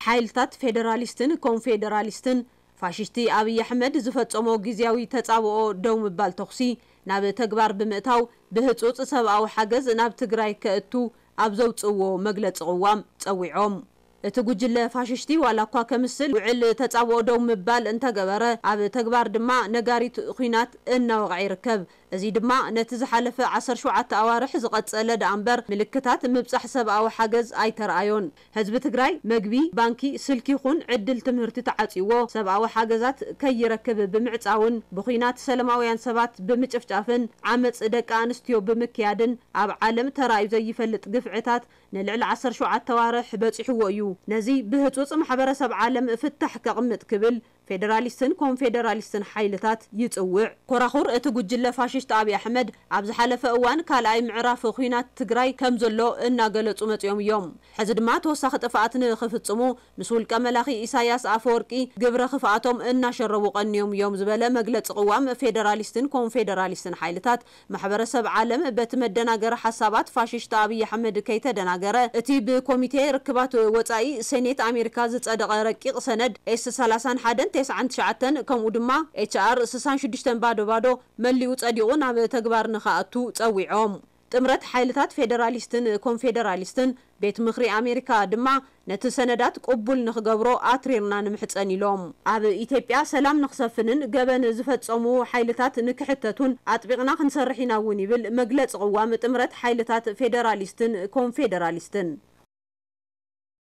ሓይልታት ፌደራሊስትን ኮንፌደራሊስትን ፋሽስቲ ኣብይ ኣሕመድ ዝፈጸሞ ግዝያዊ ተጻብኦ ደው ምባል ተኹሲ ናብ ተግባር ብምእታው ብህጹጽ ሰብኣዊ ሓገዝ ናብ ትግራይ ከእቱ ኣብ ዘውጽእዎ መግለጺ ቅዋም ጸዊዖም። እቲ ጉጅለ ፋሽስቲ ዋላ እኳ ከምስል ውዕል ተጻብኦ ደው ምባል እንተገበረ፣ ኣብ ተግባር ድማ ነጋሪት ኹናት እናወቕዐ ይርከብ። እዚ ድማ ነቲ ዝሓለፈ ዓሰርተ ሸውዓተ ኣዋርሕ ዝቐጸለ ደኣ እምበር ምልክታት ምብጻሕ ሰብኣዊ ሓገዝ ኣይተረኣዮን። ህዝቢ ትግራይ መግቢ፣ ባንኪ፣ ስልኪ ይኹን ዕድል ትምህርቲ ተዓጽይዎ ሰብኣዊ ሓገዛት ከይረክብ ብምዕጻውን ብኹናት ሰለማውያን ሰባት ብምጭፍጫፍን ዓመጽ ደቂ ኣንስትዮ ብምክያድን ኣብ ዓለም ተራእዩ ዘይፈልጥ ግፍዕታት ንልዕሊ ዓሰርተ ሸውዓተ ኣዋርሕ በጺሕዎ እዩ። ነዚ ብህጹጽ ማሕበረሰብ ዓለም ፍታሕ ከቕምጥ ክብል ፌደራሊስትን ኮንፌደራሊስትን ሓይልታት ይጽውዕ። ኮራኹር እቲ ጉጅለ ፋሽስት ኣብይ ኣሕመድ ኣብ ዝሓለፈ እዋን ካልኣይ ምዕራፍ ኹናት ትግራይ ከም ዘሎ እናገለጹ መጺኦም እዮም። ሕዚ ድማ ተወሳኺ ጥፍኣት ንኽፍጽሙ ምስ ውልቀ መላኺ ኢሳያስ ኣፈወርቂ ግብረ ክፍኣቶም እናሸረቡ ቀንዮም እዮም ዝበለ መግለጺ ቅዋም ፌደራሊስትን ኮንፌደራሊስትን ሓይልታት ማሕበረሰብ ዓለም በቲ መደናገሪ ሓሳባት ፋሽስት ኣብይ ኣሕመድ ከይተደናገረ እቲ ብኮሚቴ ርክባት ወጻኢ ሴኔት ኣሜሪካ ዝጸደቐ ረቂቕ ሰነድ ኤስ ሰላሳን ሓደን ተስዓን ትሽዓተን ከምኡ ድማ ኤች ኣር ስሳን ሽዱሽተን ባዶ ባዶ መሊኡ ጸዲቑ ናብ ተግባር ንኽኣቱ ጸዊዖም። ጥምረት ሓይልታት ፌደራሊስትን ኮንፌደራሊስትን ቤት ምኽሪ ኣሜሪካ ድማ ነቲ ሰነዳት ቅቡል ንኽገብሮ ኣትሪርና ንምሕጸን ኢሎም። ኣብ ኢትዮጵያ ሰላም ንኽሰፍንን ገበን ዝፈጸሙ ሓይልታት ንክሕተቱን ኣጥቢቕና ክንሰርሕ ኢና እውን ይብል መግለጺ ቅዋም ጥምረት ሓይልታት ፌደራሊስትን ኮንፌደራሊስትን።